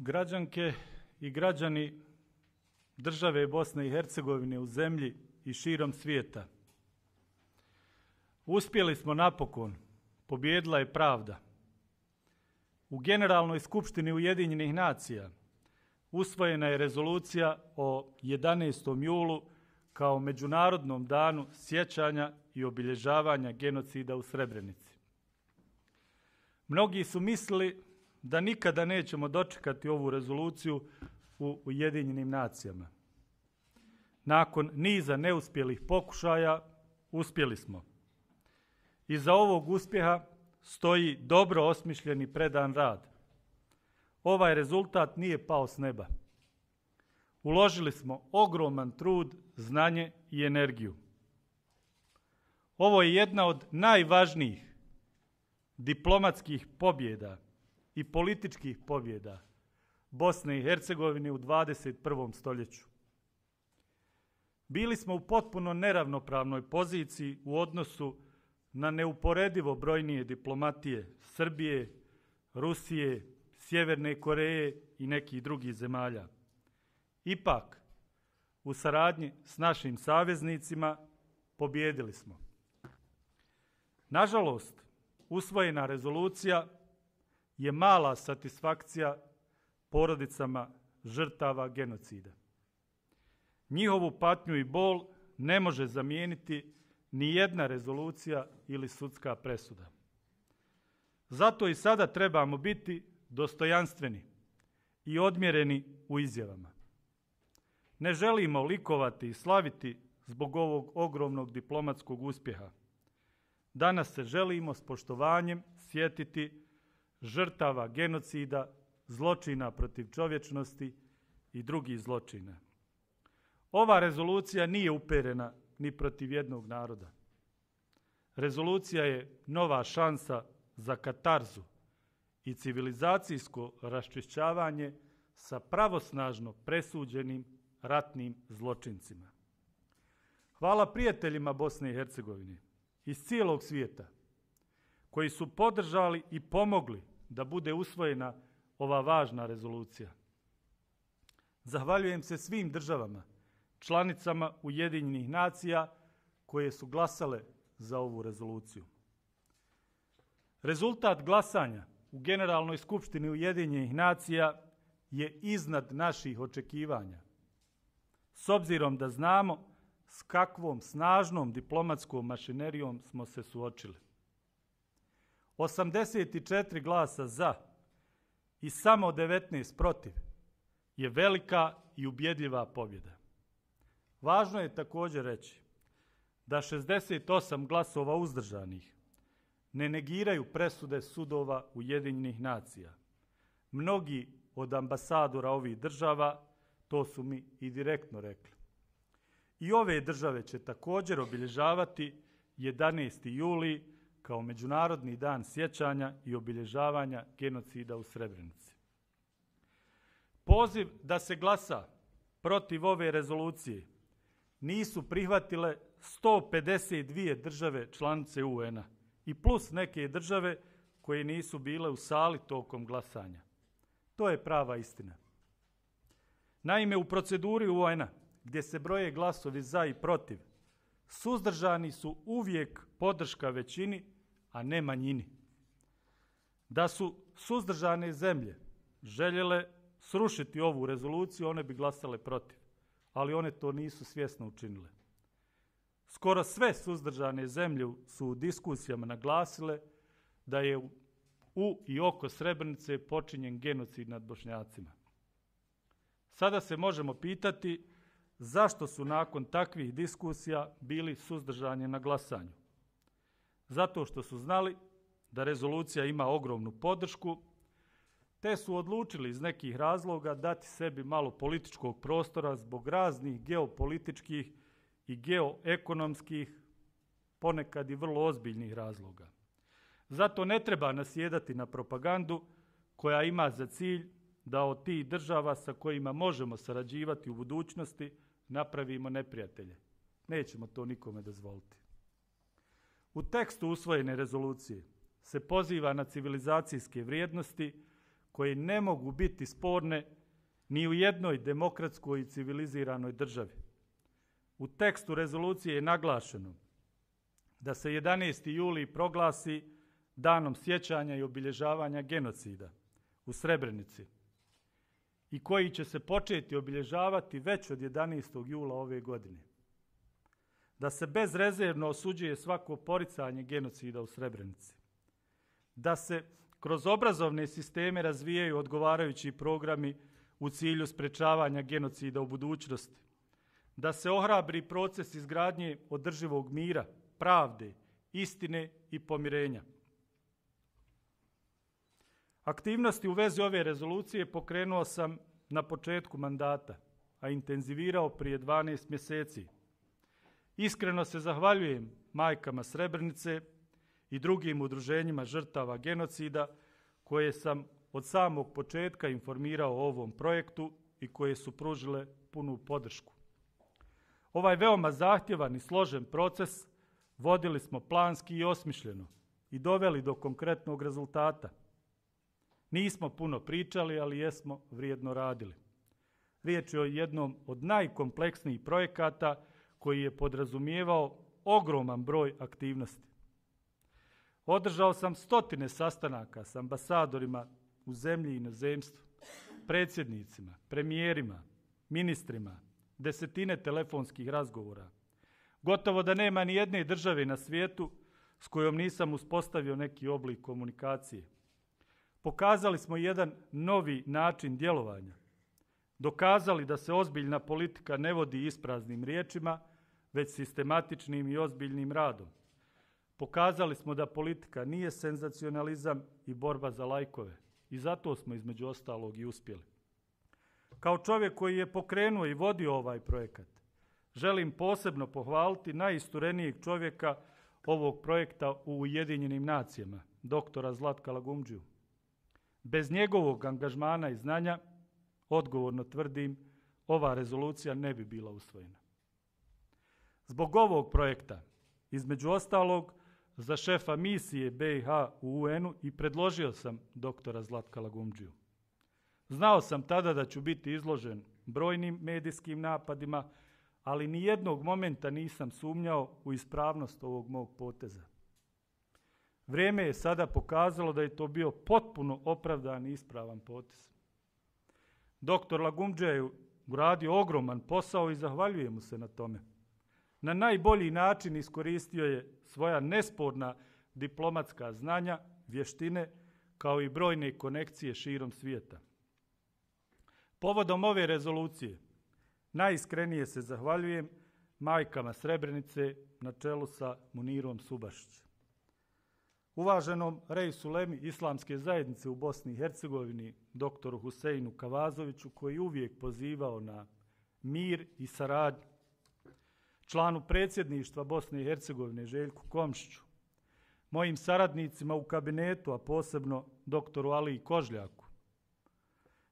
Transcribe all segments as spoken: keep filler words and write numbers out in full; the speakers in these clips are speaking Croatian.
Građanke i građani države Bosne i Hercegovine u zemlji i širom svijeta. Uspjeli smo napokon, pobijedila je pravda. U Generalnoj skupštini Ujedinjenih nacija usvojena je rezolucija o jedanaestom julu kao Međunarodnom danu sjećanja i obilježavanja genocida u Srebrenici. Mnogi su mislili da nikada nećemo dočekati ovu rezoluciju u Ujedinjenim nacijama. Nakon niza neuspjelih pokušaja uspjeli smo. Iza ovog uspjeha stoji dobro osmišljeni predan rad. Ovaj rezultat nije pao s neba. Uložili smo ogroman trud, znanje i energiju. Ovo je jedna od najvažnijih diplomatskih pobjeda i političkih pobjeda Bosne i Hercegovine u dvadeset prvom stoljeću. Bili smo u potpuno neravnopravnoj poziciji u odnosu na neuporedivo brojnije diplomatije Srbije, Rusije, Sjeverne Koreje i nekih drugih zemalja. Ipak, u saradnji s našim saveznicima pobijedili smo. Nažalost, usvojena rezolucija je mala satisfakcija porodicama žrtava genocida. Njihovu patnju i bol ne može zamijeniti ni jedna rezolucija ili sudska presuda. Zato i sada trebamo biti dostojanstveni i odmjereni u izjavama. Ne želimo likovati i slaviti zbog ovog ogromnog diplomatskog uspjeha. Danas se želimo s poštovanjem sjetiti žrtava genocida, zločina protiv čovječnosti i drugih zločina. Ova rezolucija nije uperena ni protiv jednog naroda. Rezolucija je nova šansa za katarzu i civilizacijsko raščišćavanje sa pravosnažno presuđenim ratnim zločincima. Hvala prijateljima Bosne i Hercegovine iz cijelog svijeta koji su podržali i pomogli da bude usvojena ova važna rezolucija. Zahvaljujem se svim državama, članicama Ujedinjenih nacija koje su glasale za ovu rezoluciju. Rezultat glasanja u Generalnoj skupštini Ujedinjenih nacija je iznad naših očekivanja. S obzirom da znamo s kakvom snažnom diplomatskom mašinerijom smo se suočili. osamdeset četiri glasa za i samo devetnaest protiv je velika i ubjedljiva pobjeda. Važno je također reći da šezdeset osam glasova uzdržanih ne negiraju presude sudova Ujedinjenih nacija. Mnogi od ambasadora ovih država to su mi i direktno rekli. I ove države će također obilježavati jedanaesti juli kao Međunarodni dan sjećanja i obilježavanja genocida u Srebrenici. Poziv da se glasa protiv ove rezolucije nisu prihvatile sto pedeset dvije države članice U N-a i plus neke države koje nisu bile u sali tokom glasanja. To je prava istina. Naime, u proceduri U N-a gdje se broje glasovi za i protiv, suzdržani su uvijek podrška većini, a ne manjini. Da su suzdržane zemlje željele srušiti ovu rezoluciju, one bi glasale protiv, ali one to nisu svjesno učinile. Skoro sve suzdržane zemlje su u diskusijama naglasile da je u i oko Srebrenice počinjen genocid nad Bošnjacima. Sada se možemo pitati zašto su nakon takvih diskusija bili suzdržani na glasanju. Zato što su znali da rezolucija ima ogromnu podršku, te su odlučili iz nekih razloga dati sebi malo političkog prostora zbog raznih geopolitičkih i geoekonomskih, ponekad i vrlo ozbiljnih razloga. Zato ne treba nasjedati na propagandu koja ima za cilj da od tih država sa kojima možemo sarađivati u budućnosti napravimo neprijatelje. Nećemo to nikome dozvoliti. U tekstu usvojene rezolucije se poziva na civilizacijske vrijednosti koje ne mogu biti sporne ni u jednoj demokratskoj i civiliziranoj državi. U tekstu rezolucije je naglašeno da se jedanaesti juli proglasi danom sjećanja i obilježavanja genocida u Srebrenici i koji će se početi obilježavati već od jedanaestog jula ove godine. Da se bezrezervno osuđuje svako poricanje genocida u Srebrenici. Da se kroz obrazovne sisteme razvijaju odgovarajući programi u cilju sprečavanja genocida u budućnosti. Da se ohrabri proces izgradnje održivog mira, pravde, istine i pomirenja. Aktivnosti u vezi ove rezolucije pokrenuo sam na početku mandata, a intenzivirao prije dvanaest mjeseci. Iskreno se zahvaljujem majkama Srebrenice i drugim udruženjima žrtava genocida koje sam od samog početka informirao o ovom projektu i koje su pružile punu podršku. Ovaj veoma zahtjevan i složen proces vodili smo planski i osmišljeno i doveli do konkretnog rezultata. Nismo puno pričali, ali jesmo vrijedno radili. Riječ je o jednom od najkompleksnijih projekata koji je podrazumijevao ogroman broj aktivnosti. Održao sam stotine sastanaka s ambasadorima u zemlji i inozemstvu, predsjednicima, premijerima, ministrima, desetine telefonskih razgovora. Gotovo da nema ni jedne države na svijetu s kojom nisam uspostavio neki oblik komunikacije. Pokazali smo jedan novi način djelovanja. Dokazali da se ozbiljna politika ne vodi ispraznim riječima, već sistematičnim i ozbiljnim radom. Pokazali smo da politika nije senzacionalizam i borba za lajkove. I zato smo između ostalog i uspjeli. Kao čovjek koji je pokrenuo i vodio ovaj projekat, želim posebno pohvaliti najisturenijeg čovjeka ovog projekta u Ujedinjenim nacijama, doktora Zlatka Lagumdžiju. Bez njegovog angažmana i znanja, odgovorno tvrdim, ova rezolucija ne bi bila usvojena. Zbog ovog projekta, između ostalog, za šefa misije B i H u U N-u i predložio sam doktora Zlatka Lagumdžiju. Znao sam tada da ću biti izložen brojnim medijskim napadima, ali ni jednog momenta nisam sumnjao u ispravnost ovog mog poteza. Vrijeme je sada pokazalo da je to bio potpuno opravdan i ispravan potez. Doktor Lagumdžija je uradio ogroman posao i zahvaljujem mu se na tome. Na najbolji način iskoristio je svoja nesporna diplomatska znanja, vještine, kao i brojne konekcije širom svijeta. Povodom ove rezolucije najiskrenije se zahvaljujem majkama Srebrenice na čelu sa Munirom Subašić. Uvaženom Reisu Lemi Islamske zajednice u Bosni i Hercegovini, doktoru Huseinu Kavazoviću, koji uvijek pozivao na mir i saradnju, članu predsjedništva Bosne i Hercegovine Željku Komšiću, mojim saradnicima u kabinetu, a posebno doktoru Aliji Kožljaku,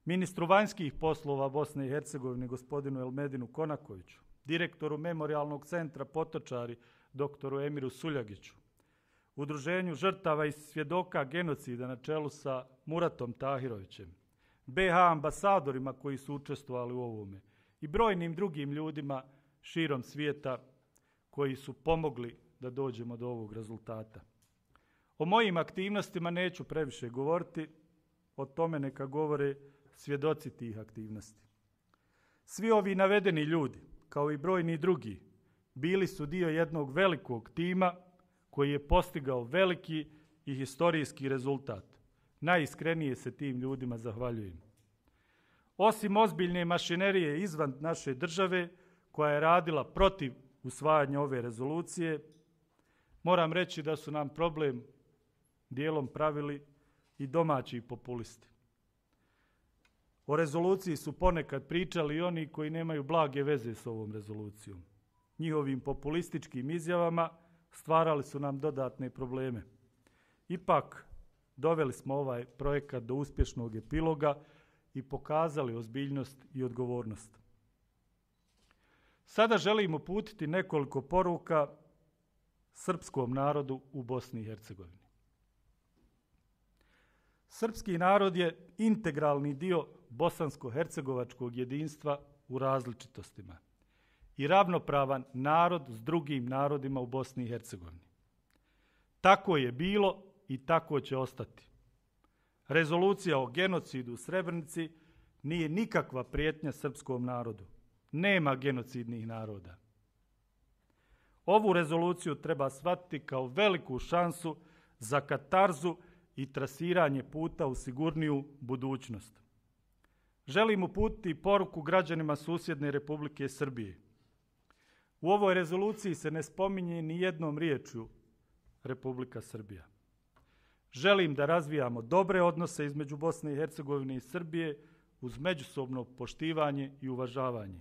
ministru vanjskih poslova Bosne i Hercegovine gospodinu Elmedinu Konakoviću, direktoru Memorijalnog centra Potočari doktoru Emiru Suljagiću, Udruženju žrtava i svjedoka genocida na čelu sa Muratom Tahirovićem, B H ambasadorima koji su učestvovali u ovome i brojnim drugim ljudima širom svijeta koji su pomogli da dođemo do ovog rezultata. O mojim aktivnostima neću previše govoriti, o tome neka govore svjedoci tih aktivnosti. Svi ovi navedeni ljudi, kao i brojni drugi, bili su dio jednog velikog tima koji je postigao veliki i historijski rezultat. Najiskrenije se tim ljudima zahvaljujem. Osim ozbiljne mašinerije izvan naše države, koja je radila protiv usvajanja ove rezolucije, moram reći da su nam problem dijelom pravili i domaći populisti. O rezoluciji su ponekad pričali i oni koji nemaju blage veze s ovom rezolucijom. Njihovim populističkim izjavama stvarali su nam dodatne probleme. Ipak, doveli smo ovaj projekat do uspješnog epiloga i pokazali ozbiljnost i odgovornost. Sada želim uputiti nekoliko poruka srpskom narodu u Bosni i Hercegovini. Srpski narod je integralni dio bosansko-hercegovačkog jedinstva u različitostima i ravnopravan narod s drugim narodima u Bosni i Hercegovini. Tako je bilo i tako će ostati. Rezolucija o genocidu u Srebrenici nije nikakva prijetnja srpskom narodu. Nema genocidnih naroda. Ovu rezoluciju treba shvatiti kao veliku šansu za katarzu i trasiranje puta u sigurniju budućnost. Želim uputiti poruku građanima susjedne Republike Srbije. U ovoj rezoluciji se ne spominje ni jednom riječju Republika Srbija. Želim da razvijamo dobre odnose između Bosne i Hercegovine i Srbije uz međusobno poštivanje i uvažavanje.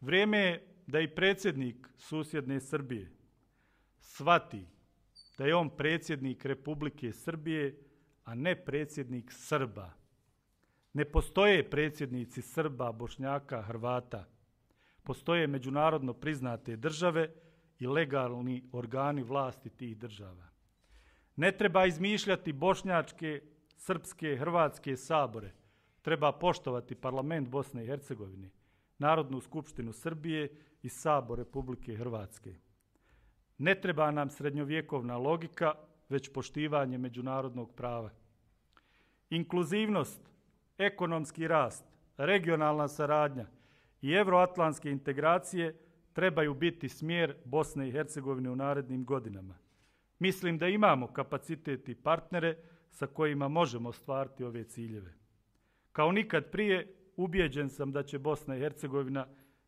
Vrijeme je da i predsjednik susjedne Srbije shvati da je on predsjednik Republike Srbije, a ne predsjednik Srba. Ne postoje predsjednici Srba, Bošnjaka, Hrvata. Postoje međunarodno priznate države i legalni organi vlasti tih država. Ne treba izmišljati bošnjačke, srpske, hrvatske sabore. Treba poštovati parlament Bosne i Hercegovine, Narodnu skupštinu Srbije i Sabor Republike Hrvatske. Ne treba nam srednjovjekovna logika, već poštivanje međunarodnog prava. Inkluzivnost, ekonomski rast, regionalna saradnja i euroatlantske integracije trebaju biti smjer Bosne i Hercegovine u narednim godinama. Mislim da imamo kapacitet i partnere sa kojima možemo ostvariti ove ciljeve. Kao nikad prije, ubijeđen sam da će Bosna i Hercegovina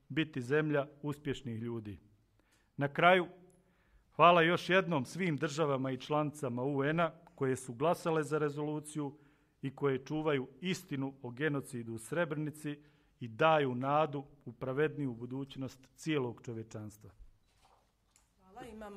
biti zemlja uspješnih ljudi. Na kraju, hvala još jednom svim državama i članicama U N-a koje su glasale za rezoluciju i koje čuvaju istinu o genocidu u Srebrenici i daju nadu u pravedniju budućnost cijelog čovječanstva. Hvala, imamo